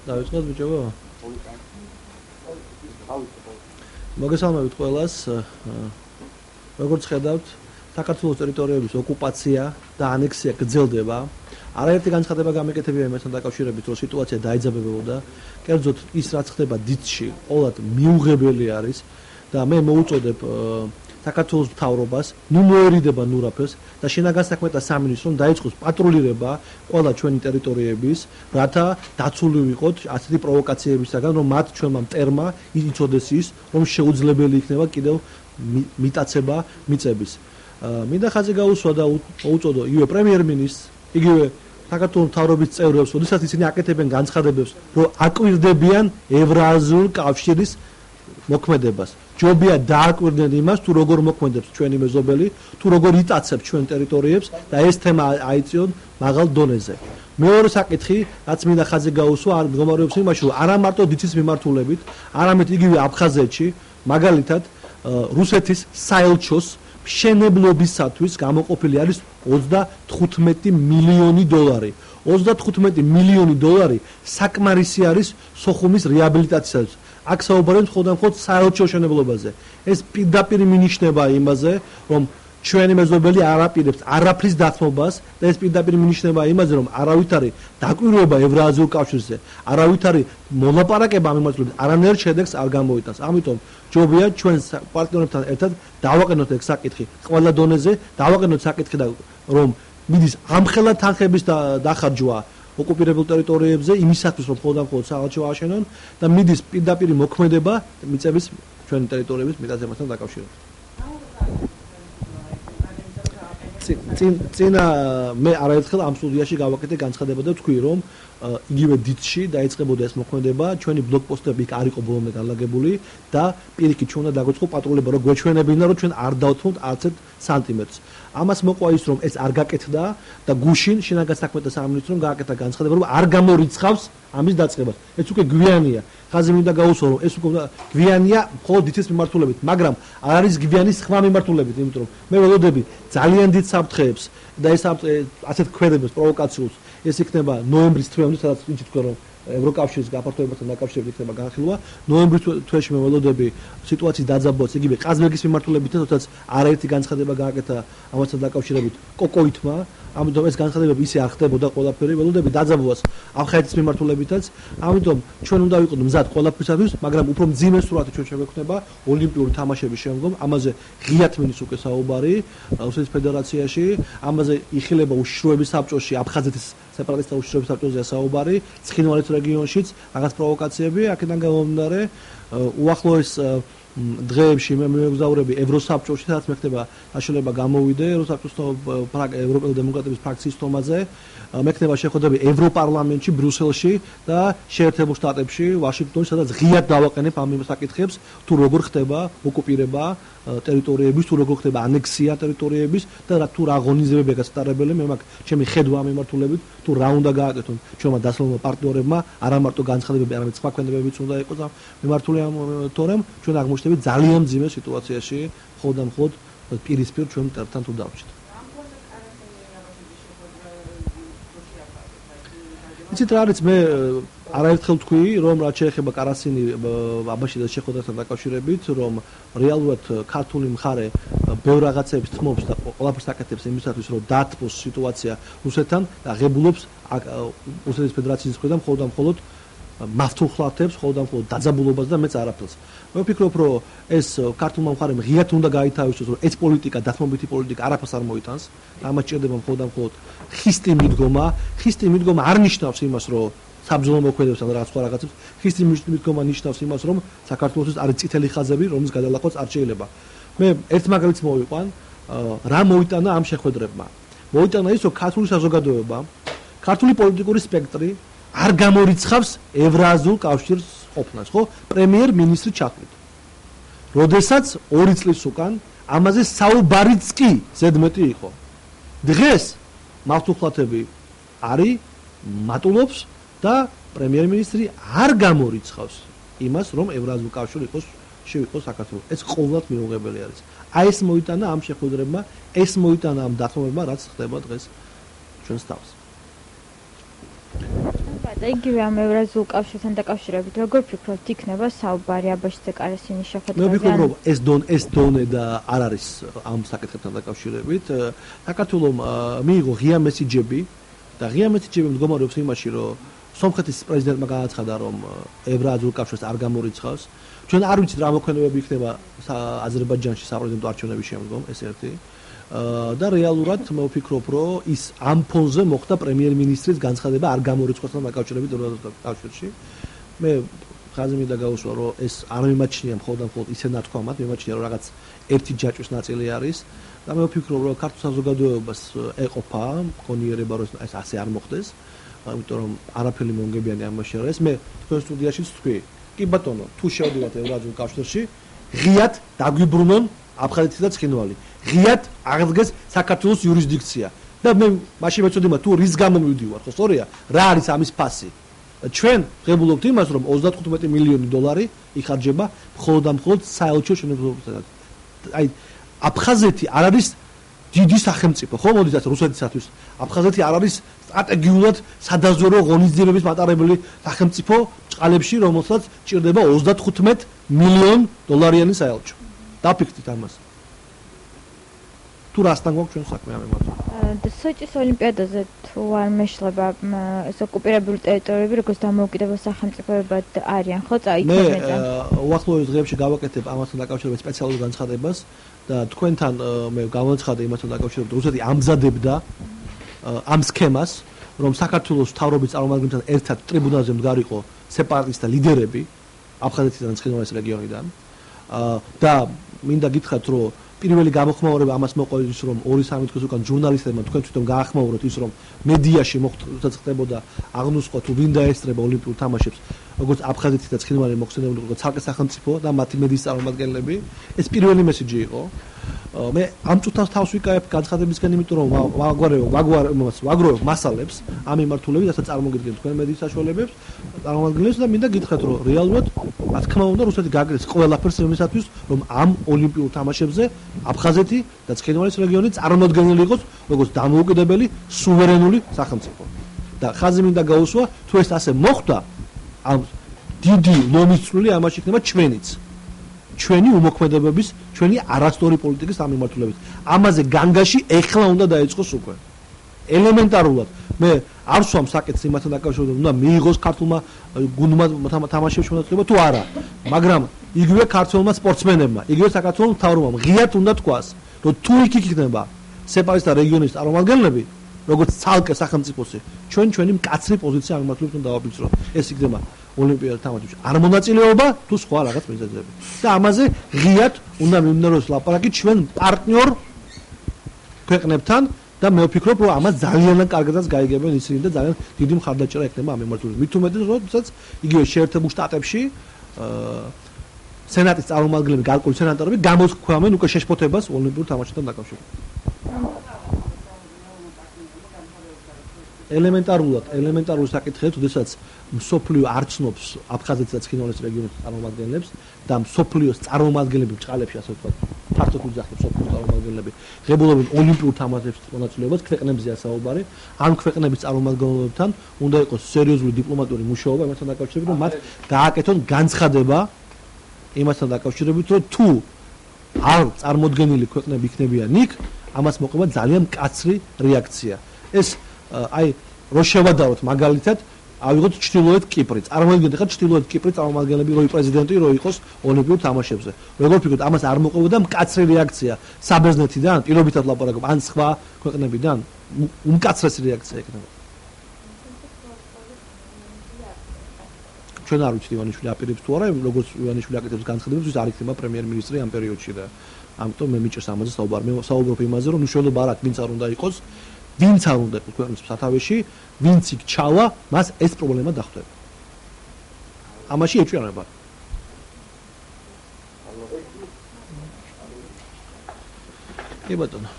დავიწყოთ ბიჭებო. მოგესალმებით ყველას. როგორც ხედავთ, საქართველოს ტერიტორიების ოკუპაცია და ანექსია გრძელდება. არაერთი განცხადება გამეკეთებია იმასთან დაკავშირებით, რომ სიტუაცია დაიძაბებოდა. კერძოდ ის რაც ხდება დიცში, ყოველად მიუღებელი არის და მე მოუწოდებ საქართველოს მთავრობას, ნუ მოერიდება ნურაფეს და შინაგან საქმეთა სამინისტრომ დაიწყოს პატრულირება ყველა ჩვენი ტერიტორიების, რათა დაცული ვიყოთ ასეთი პროვოკაციებისაგან, რომ მათ ჩვენმა მტერმა იცოდეს ის, რომ შეუძლებელი იქნება კიდევ მიტაცება მიწების. მინდა ხაზი გაუსვა და მოუწოდო იგივე პრემიერ-მინისტრს, იგივე საქართველოს მთავრობის წევრებს, როდესაც ისინი აკეთებენ განცხადებებს, რომ აკვირდებიან ევრაზიულ კავშირის მოქმედებას. ჯობია დააკვირდნენ იმას, თუ როგორ მოქმედებს ჩვენი მეზობელი, თუ როგორ იტაცებს ჩვენ ტერიტორიებს და ეს თემა აიწიონ მაღალ დონეზე. მეორე საკითხი, რაც მინდა ხაზი გაუსვა, მდგომარეობს იმაში, რომ არა მარტო დიცის მიმართულებით, არამედ იგივე აფხაზეთში, მაგალითად, რუსეთის საელჩოს მშენებლობისათვის გამოყოფილი არის 35 მილიონი დოლარი. 35 მილიონი დოლარი საკმარისი არის სოხუმის რეაბილიტაციისათვის. აქ საუბარია მხოლოდ საელჩო მშენებლობაზე. ეს პირდაპირ მინიშნება იმაზე, რომ ჩვენი მეზობელი არ აპირებს არაფრის დათმობას და ეს პირდაპირ მინიშნება იმაზე, რომ არავითარი დაკვირვება ევრაზიულ კავშირზე, არავითარი მოლაპარაკება ამ მიმართულებით არანაირ შედეგს არ გამოიტანს. ამიტომ ჯობია ჩვენ პარტნიორებთან ერთად დავაყენოთ ეს საკითხი ყველა დონეზე, დავაყენოთ საკითხი და რომ მიდის ამხელა თანხების დახარჯვა ოკუპირებულ ტერიტორიებზე იმისათვის, რომ მხოლოდ საელჩო ააშენონ და მიდის პირდაპირ მოქმედება მიწების ჩვენი ტერიტორიების მიტაცებასთან დაკავშირებით. წინა მე არაერთხელ ამ სტუდიაში გავაკეთე განცხადება და თქვი, რომ იგივე დიცში დაიწყებოდა ეს მოქმედება, ჩვენი ბლოკპოსტები იქ არ იყო ბოლომდე განლაგებული და პირიქით ჩვენ უნდა დაგვეწყო პატრულება, რომ გვეჩვენებინა, რომ ჩვენ არ დავთმოთ არც ერთ სანტიმეტრს. ამას მოყვა ის, რომ ეს არ გაკეთდა და გუშინ შინაგან საქმეთა სამინისტრომ გააკეთა განცხადება, რომ არ გამორიცხავს ამის დაწყებას. ეს უკვე გვიანია. ხაზი მინდა გაუსვა, რომ ეს უკვე გვიანია მხოლოდ დიცის მიმართულებით, მაგრამ არ არის გვიანი სხვა მიმართულებით, იმიტომ რომ მე ველოდები ძალიან დიდ საფრთხეებს და ეს ასეთ ქმედებს პროვოკაციულს ეს იქნება ნოემბრის თვეამდე, სადაც ვინც თქვა, რომ ევროკავშირის გაფართოებასთან დაკავშირებით იქნება განხილვა. ნოემბრის თვეში მე ველოდები სიტუაციის დაძაბვას იგივე ყაზბეგის მიმართულებით, თორსა არაერთი განცხადება გააკეთა ამასთან დაკავშირებით კოკოითმა. ამიტომ ეს განცხადებები ისე არ ხდებოდა ყველაფერი, ველოდები დაძაბვას აფხაზეთის მიმართულებითაც. ამიტომ ჩვენ უნდა ვიყოთ მზად ყველაფრისათვის, მაგრამ უფრო მძიმე სურათი ჩვენ შევექმნება ოლიმპიური თამაშების შემდგომ. ამაზე ღიათ მინის უკვე საუბარი რუსეთის ფედერაციაში, ამაზე იხილება უშიშროების საბჭოში, აფხაზეთის სეპარატისტთა უშიშროების საბჭოზეა საუბარი, ცხინვალის რეგიონშიც რაღაც პროვოკაციები, აქედან გამომდინარე უახლოეს დღეებში მე მეგზაურები ევროსაბჭოში, სადაც მე ხდება დაშლება გამოვიდე ევროსაბჭოს ევროპელი დემოკრატების ფრაქციის თომაზე, მე ხდება შეხვედრები ევროპარლამენტში, ბრიუსელში და შეერთებულ შტატებში, ვაშინგტონში, სადაც ღიად დავაყენებ ამ საკითხებს, თუ როგორ ხდება ოკუპირება ტერიტორიების, თუ როგორ ხდება ანექსია ტერიტორიების და თუ რა აღონიზებებია გასატარებელი, მე მაგ ჩემი ხედვა ამ მიმართულებით, თუ რა უნდა გააკეთონ ჩვენმა დასავლელმა პარტნიორებმა, არა მარტო განცხადებები, არამედ სხვა ქმედებებიც უნდა იყოს ამ მიმართული ამ თორემ ჩვენ აღმოჩნდებით ძალიან მძიმე სიტუაციაში, მხოლოდ პირისპირ ჩვენ მტერთან თუ დავჭით. იცით რა არის, მე არაერთხელ თქვი, რომ რაც შეეხება კარასინი აბაშიძის შეხვედრასთან დაკავშირებით, რომ რეალურად ქართული მხარე ბევრ რაღაცებს თმობს და ყველაფერს აკეთებს იმისათვის, რომ დაათმოს სიტუაცია რუსეთთან და ღებულობს რუსეთის ფედერაციის მხრიდან მხოლოდ მართულხლათებს, მხოლოდ დაძაბულობას და მეც არაფერს. მე ვფიქრობ, რომ ეს ქართულმა მხარემ ღიად უნდა გაითავისოს, რომ ეს პოლიტიკა, დათმობითი პოლიტიკა არაფერს არ მოიტანს. ამას ჭირდება მხოლოდ ხისტი მიდგომა. ხისტი მიდგომა არ ნიშნავს იმას, რომ საბრძოლო მოქმედებს ან რაღაც სხვა რაღაცებს. ხისტი მიდგომა ნიშნავს იმას, რომ საქართველოს არის წითელი ხაზები, რომლის გადალახვაც არ შეიძლება. მე ერთ მაგალითს მოვიყვან, რა მოიტანა ამ შეხვედრებმა. მოიტანა ის, რომ ქართული საზოგადოება, ქართული პოლიტიკური სპექტრი არ გამორიცხავს ევრაზიულ კავშირს ყოფნას, ხო? პრემიერ-მინისტრი ჩახვით. როდესაც 2 წლის უკან ამაზე საუბარიც კი ზედმეტი იყო. დღეს მართულხლათები არის მატულობს და პრემიერ-მინისტრი არ გამორიცხავს იმას, რომ ევრაზიულ კავშირი შევიყოს საქართველოს. ეს ყოველდღიურად მიუღებელი არის. აი ეს მოიტანა ამ შეხვედრებმა, ეს მოიტანა ამ დათმობებმა, რაც ხდება დღეს ჩვენს თავს. და იგივე ამ ევრაზიულ კავშირთან დაკავშირებით როგორ ფიქრობთ იქნება საუბარი აბაშიძე კარასინის შეხვედრაზე? მე ვფიქრობ რომ ეს დონე და არ არის ამ საკითხებთან დაკავშირებით. საქართველომ მიიღო ღია მესიჯები და ღია მესიჯები მდგომარეობს იმაში, რომ სომხეთის პრეზიდენტმა განაცხადა, რომ ევრაზიულ კავშირს არ გამორიცხავს. ჩვენ არ ვიცით რა მოქმედებები იქნება აზერბაიჯანში საპრეზიდენტო არჩევნების შემდგომ, ეს ერთი. და რეალურად მე ვფიქრობ, რომ ის ამ ფონზე მოხდა პრემიერ-მინისტრის განცხადება არ გამორიცხვასთან დაკავშირებით ევრაზიულ კავშირში. მე ხაზი მინდა გავუსვა, რომ ეს არ მიმაჩნია მხოლოდ ისე ნათქვამად, მიმაჩნია რომ რაღაც ერთი ჯაჭვის ნაწილი არის და მე ვფიქრობ, რომ ქართულ საზოგადოებას ეყოფა კონიერება, რომ ეს ასე არ მოხდეს, იმიტომ რომ არაფერი მომგებიანი ამაში არ არის. მე თქვენ სტუდიაშიც თქვი, კი ბატონო, თუ შევდივართ ევრაზიულ კავშირში, ღიად დაგვიბრუნონ აფხაზეთი და ცხინვალი. ღიად აღდგეს საქართველოს იურისდიქცია. და მე მაშინ მეწოდი თუ რის გამო მივდივარ, ხო სწორია? რა არის ამის ფასი? ჩვენ ღებულობთ იმას, რომ 35 მილიონი დოლარი იხარჯება მხოლოდ და მხოლოდ საელჩო შენობებისგან. აი აფხაზეთი არ არის დიდი სახელმწიფო, ხო მოდით ასე რუსეთისათვის. აფხაზეთი არ არის სტრატეგიულად სადაზვერო ღონისძიებების მატარებელი სახელმწიფო ჭყალებში, რომელსაც ჭირდება 35 მილიონ დოლარიანი საელჩო. დაფიქრდით ამას. თუ რასთან გვაქვს ჩვენ საქმე ამ ემართა? სოჭის ოლიმპიადაზე თუ არ მეშლება ეს ოკუპირებული ტერიტორიები როგორც დამოუკიდებელ სახელმწიფოებად არიან, ხო წაიქნებოდა? მე უახლოეს დღეებში გავაკეთებ ამასთან დაკავშირებით სპეციალურ განცხადებას და თქვენთან მე გავაცხადე იმასთან დაკავშირებით, რუსეთი ამზადებდა ამ სქემას, რომ საქართველოს მთავრობის წარმომადგენლებთან ერთად ტრიბუნალზე მდგარიყო სეპარატისტთა ლიდერები აფხაზეთიდან და ცხინვალის რეგიონიდან და მინდა გითხრათ, რომ პირველი გამოხმაურება ამას მოყვა ის, რომ 2-3 დღის უკან ჟურნალისტებმა თქვენ თვითონ გაახმაუროთ ის, რომ მედიაში მოხდებოდა აღნუსყვა თუ ვინ დაესწრება ოლიმპიურ თამაშებს, როგორც აფხაზეთი და ცხინვალი მოხსენებული როგორც ცალკე სახელმწიფო და მათი მედიის წარმომადგენლები. ეს პირველი მესიჯი იყო. მე ამ წუთას თავს ვიკავებ განცხადებისგან, იმიტომ რომ ვაგროვებ მასალებს ამ მიმართულებით, რასაც წარმოგიდგენთ თქვენ მედიის საშუალებებს, წარმომადგენლებს და მინდა გითხრათ, რომ რეალურად რა თქმა უნდა რუსეთი გააგრეს ყველაფერს იმისათვის, რომ ამ ოლიმპიურ თამაშებზე აფხაზეთი და ცხინვალის რეგიონი წარმოდგენილი იყოს როგორც დამოუკიდებელი სუვერენული სახელმწიფო. და ხაზი მინდა გაუსვა, თუ ეს ასე მოხდა, ამ დიდი ლომის წვლილი ამაში იქნება ჩვენიც. ჩვენი უმოქმედებების, ჩვენი არასწორი პოლიტიკის ამ მიმართულებით. ამაზე განგაში ეხლა უნდა დაიწყოს უკვე. ელემენტარულად მე არ ვსვამ საკითხს იმასთან დაკავშირებით, უნდა მიიღოს ქართულმა გუნდმა თამაშებში მონაწილეობა თუ არა, მაგრამ იგივე ქართველმა სპორტსმენებმა, იგივე საქართველოს მთავრობამ ღიად უნდა თქვას, რომ თუ იქ იქნება სეპარატისტთა რეგიონის წარმომადგენლები, როგორც ცალკე სახელმწიფოსი, ჩვენი მკაცრი პოზიცია ამ მიმართულებით უნდა დავაფიქსიროთ. ეს იქნება ოლიმპიადა თამაშებში არ მონაწილეობა თუ სხვა რაღაც მიზეზები. და ამაზე ღიად უნდა მიმდინარეობს ლაპარაკი ჩვენ პარტნიორ ქვეყნებთან და მე ვფიქრობ, რომ ამას ძალიან კარგადაც გაიგებენ ისინი და ძალიან დიდი მხარდაჭერა ექნება ამ მიმართულებით. მით უმეტეს, როდესაც იგივე შეერთებულ შტატებში სენატის წარმომადგენლები, გარკვეული სენატორები გამოსქვამენ უკვე შეშფოთებას ოლიმპიურ თამაშებთან დაკავშირებით. ელემენტარული საკითხია, როდესაც მსოფლიო არ ცნობს აფხაზეთის და ცხინვალის რეგიონის წარმომადგენლებს და მსოფლიოს წარმომადგენლები ჭყალებში, ასე ვთქვათ, ფართოდ უძახებს მსოფლიოს წარმომადგენლები ღებულობენ ოლიმპიურ თამაშებში მონაწილეობას, ქვეყნებზეა საუბარი. ამ ქვეყნების წარმომადგენლებთან უნდა იყოს სერიოზული დიპლომატიური მუშაობა იმასთან დაკავშირებით, რომ მათ გააკეთონ განცხადება იმასთან დაკავშირებით, რომ თუ არ წარმოდგენილი ქვეყნები იქნებიან იქ, ამას მოყვება ძალიან მკაცრი რეაქცია. ეს აი რო შევადაროთ მაგალითად ავიღოთ ჩრდილოეთ კიპრი. წარმოიდგინეთ ახლა ჩრდილოეთ კიპრის წარმომადგენლები რო პრეზიდენტი რო იყოს ოლიმპიურ თამაშებზე. როგორ ფიქრობთ, ამას არ მოყვებოდა მკაცრი რეაქცია საბერძნეთიდან, პირობითად ლაპარაკობ, ან სხვა ქვეყნებიდან? უმკაცრესი რეაქცია იქნება. ჩვენ არ ვიცით ივანიშვილი აპირებს თუ არა, როგორც ივანიშვილი აკეთებს განცხადებებს, ის არ იქნება პრემიერ-მინისტრი ამ პერიოდში და ამიტომ მე მიჭირს ამაზე საუბარი. მე საუბრობ იმაზე, რომ უშუალოდ არ აქვს ვინც არ უნდა იყოს, ვინც არ უნდა იყოს ქვეყნის სათავეში, ვინც იქ ჩავა, მას ეს პრობლემა დახვდება. ამაში ეჭვიანება. კი ბატონო.